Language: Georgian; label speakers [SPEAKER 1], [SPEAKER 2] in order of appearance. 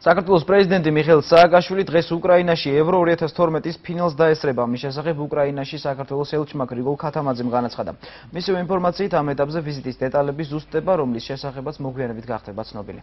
[SPEAKER 1] საქართველოს პრეზიდენტი მიხეილ სააკაშვილი დღეს უკრაინაში ევრო 2012-ის ფინალს დაესწრება. მის შესახებ უკრაინაში საქართველოს ელჩმა გრიგოლ ქათამაძემ განაცხადა. მისივე ინფორმაციით ამ ეტაპზე ვიზიტის დეტალები ზუსტდება, რომლის შესახებაც მოგვიანებით გახდება ცნობილი.